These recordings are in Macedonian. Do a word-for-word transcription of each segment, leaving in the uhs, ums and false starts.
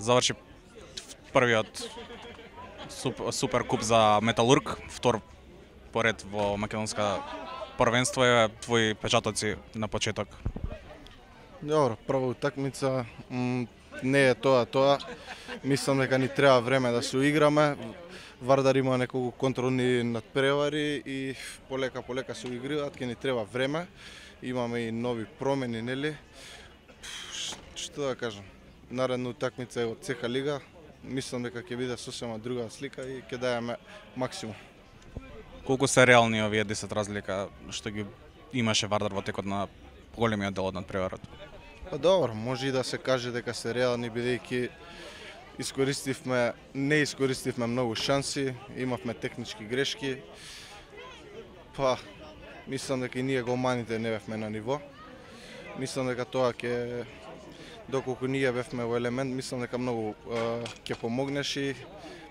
Заврши првиот супер куп за Металург, втор поред во македонска првенство. Е твои печатоци на почеток. Добро, прва утакмица не е тоа тоа. Мислам дека ни треба време да се уиграме. Вардар има неколку контролни надпревари и полека полека се уиграат, ќе ни треба време. Имаме и нови промени, нели? Што да кажам? Наредна утакмица е од ЦСКА лига. Мислам дека ќе биде сосема друга слика и ќе даеме максимум. Колку се реални овие десет разлика што ги имаше Вардар во текот на големиот дел од надпреварот? Па добро, може и да се каже дека се реални, бидејќи искористивме, не искористивме многу шанси, имавме технички грешки. Па, мислам дека и ние голманите не бевме на ниво. Мислам дека тоа ќе, доколку ние бевме во елемент, мислам дека многу ќе помогнеш и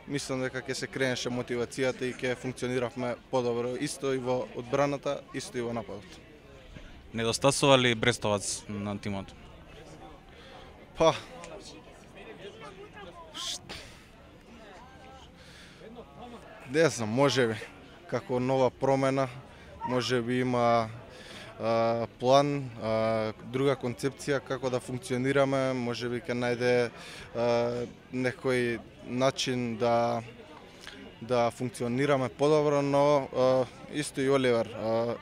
мислам дека ќе се кренеше мотивацијата и ќе функциониравме подобро исто и во одбраната, исто и во нападот. Недостасува ли Брестовац на тимот? Па, не знам, можеби како нова промена, можеби има а, план, а, друга концепција како да функционираме, можеби ќе најде а, некој начин да да функционираме подобро, но а, исто и Оливер. А,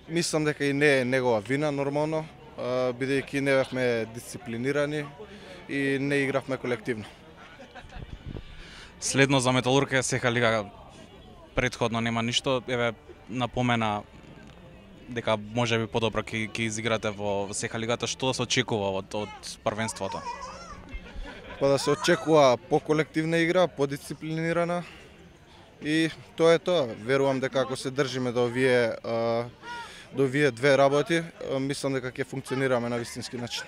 мислам дека и не е негова вина нормално, а, бидејќи не бевме дисциплинирани и не игравме колективно. Следно за Металург е ЦСКА лига, претходно нема ништо, еве напомена дека можеби подобро ќе ќе изиграте во ЦСКА лигата. Што се очекува од од првенството? Па да се очекува поколективна игра, подисциплинирана и тоа е тоа. Верувам дека ако се држиме до овие до овие две работи, мислам дека ќе функционираме на вистински начин.